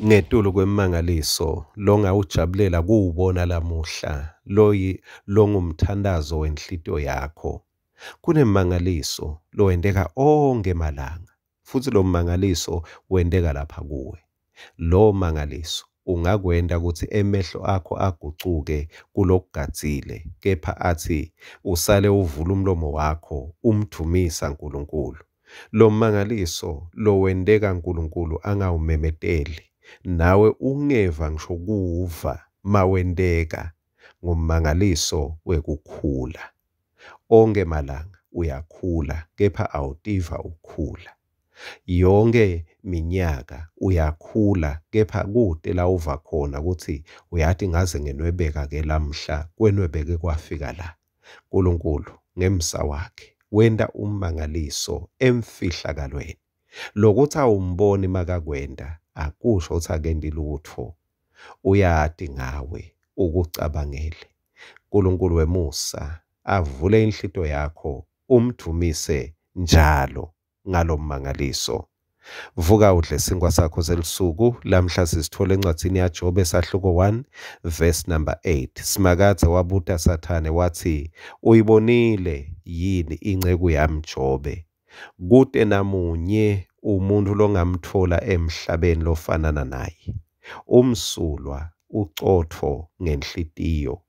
Ngetulu kwemmangaliso longawujabulela kuwubona lamuhla, loyi longumthandazo wenhlitiyo yakho, kunemmangaliso lowenteka onkhe malanga, futsi lo mmangaliso wenteka lapha kuwe. Lowo mmangaliso ungakwenta kutsi emehlo akho agucuke kulokugadzile, kepha atsi usale uvula umlomo wakho umdvumisa Nkulunkulu. Lommangaliso lowenteka Nkulunkulu angawumemeteli, nawe ungeva ngisho kuwuva mawenteka, ngummangaliso wekukhula. Onkhe malanga uyakhula, kepha awutiva ukhula. Yonkhe minyaka uyakhula, kepha kute lawuva khona kutsi uyati ngaze ngenwebeka-ke lamhla, kwenwebeke kwafika la. Nkulunkulu ngemsa wakhe wenta ummangaliso emfihlakalweni. Lokutsi awumboni makakwenta akusho kutsi akenti lutfo. Uyati ngawe, ukucabangele. Nkulunkulu wemusa avule inhlitiyo yakho umdvumise njalo ngalommangaliso. Vuka udle sinkwa sakho selusuku. Lamhla sisitfola encwadzini yaJobe sahluko 1 verse number 8. Simakadze wabuta Sathane watsi, Uyibonile yini inceku yami Jobe? Kute namunye umuntfu longamtfola emhlabeni lofanana naye. Umsulwa, ucotfo ngenhlitiyo.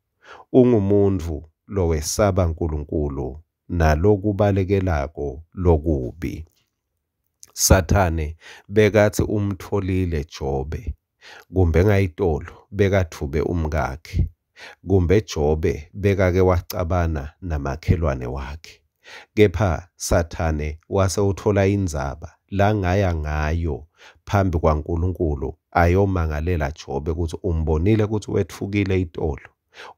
Ungumuntfu lowesaba Nkulunkulu nalokubalekelako lokubi. Sathane bekatsi umtfolile Jobe, kumbe ngayitolo bekadvube umkakhe, kumbe Jobe bekake wacabana namakhelwane wakhe. Kepha Sathane wase utfola indzaba langaya ngayo phambi kwaNkulunkulu ayomangalela Jobe kutsi umbonile kutsi wetfukile itolo,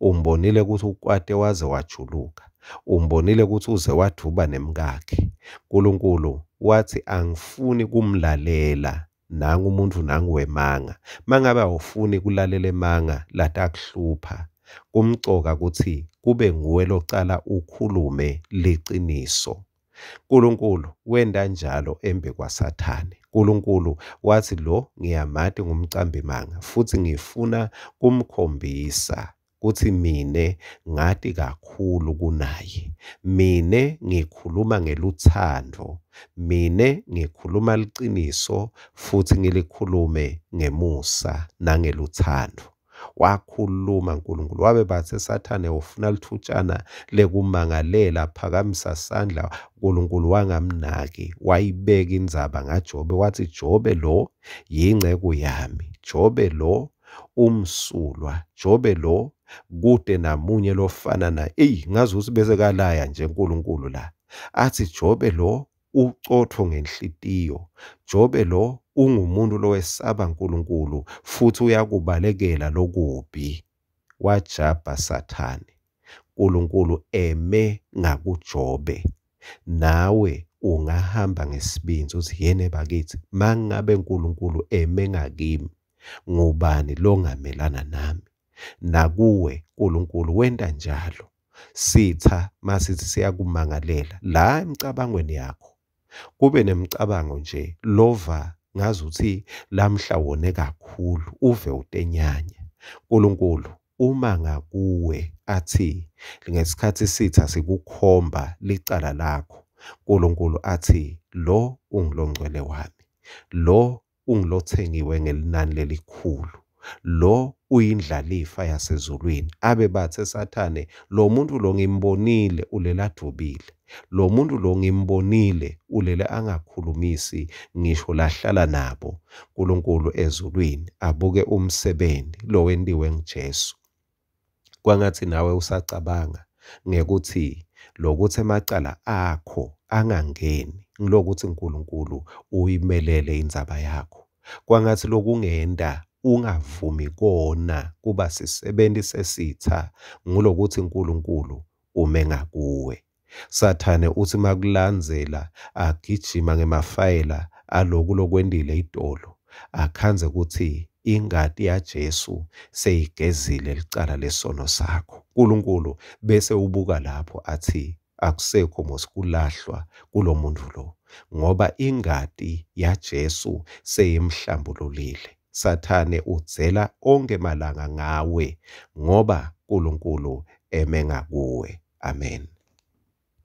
umbonile kutsi ukwate waze wajuluka, umbonile kutsi uze wadvuba nemkakhe. Nkulunkulu watsi angifuni kumlalela nangu umuntfu nangu wemanga. Mangabe awufuni kulalela emanga latakuhlupha, kumcoka kutsi kube nguwe locala ukhulume liciniso. Nkulunkulu wenta njalo embi kwaSathane. Nkulunkulu watsi lo ngiyamati ngumcambimanga futsi ngifuna kumkhombisa kutsi mine ngati kakhulu kunaye. Mine ngikhuluma ngelutsandvo, mine ngikhuluma liciniso futsi ngilikhulume ngemusa nangelutsandvo. Wakhuluma Nkulunkulu wabe batse Sathane ufuna lithutshana lekumangalela, phakamisa sandla. Nkulunkulu wangamnaki, wayibeka indzaba ngaJobe watsi Jobe lo yinceku yami, Jobe lo umsulwa, Jobe lo kute namunye lofana naye. Eyi ngazuthi bese kalaya nje Nkulunkulu la. Athi Jobe lo ucotfo ngenhlitiyo. Jobe lo ungumuntu lowesaba Nkulunkulu futhi uyakubalekela lokubi. Wajabha Sathane. Nkulunkulu eme ngakuJobe. Nawe ungahamba ngesibindzi uthi yene bakithi mangabe Nkulunkulu eme ngakimi ngubani longamelana nami? Nakuwe Nkulunkulu wenta njalo. Sitha masithi siyakumangalela la emicabangweni yakho kube nemicabango nje lova ngazuthi lamhla wone kakhulu uve utenyanya. Nkulunkulu uma ngakuwe athi ngesikhathi sitha sikukhomba licala lakho, Nkulunkulu athi lo ungulongcwele wami, lo ungulothengiwe ngelinani lelikhulu, lo uyindlalifa yasezulwini. Abe bathe Sathane, lo muntu lo ngimbonile ulele advubile, lo muntu lo ngimbonile ulele angakhulumisi ngisho lahlala nabo. Nkulunkulu ezulwini abuke umsebenzi lowentiwe nguJesu. Kwangatsi nawe usacabanga ngekuthi lokuthi emacala akho angangeni ngilokuthi Nkulunkulu uyimelele indzaba yakho. Kwangatsi lokungenta ungavumi kona kuba sisebenti sesitha ngulokuthi Nkulunkulu ume ngakuwe. Sathane utsi makulandzela agijima ngemafayela aloku lokwentile itolo, akhandze kutsi ingati yaJesu seyigezile licala lesono sakho. Nkulunkulu bese ubuka lapho athi akusekho mos kulahlwa kulo muntu lo ngoba ingati yaJesu seyimhlambululile. Sathane udzela onkhe malanga ngawe ngoba Nkulunkulu eme ngakuwe. Amen.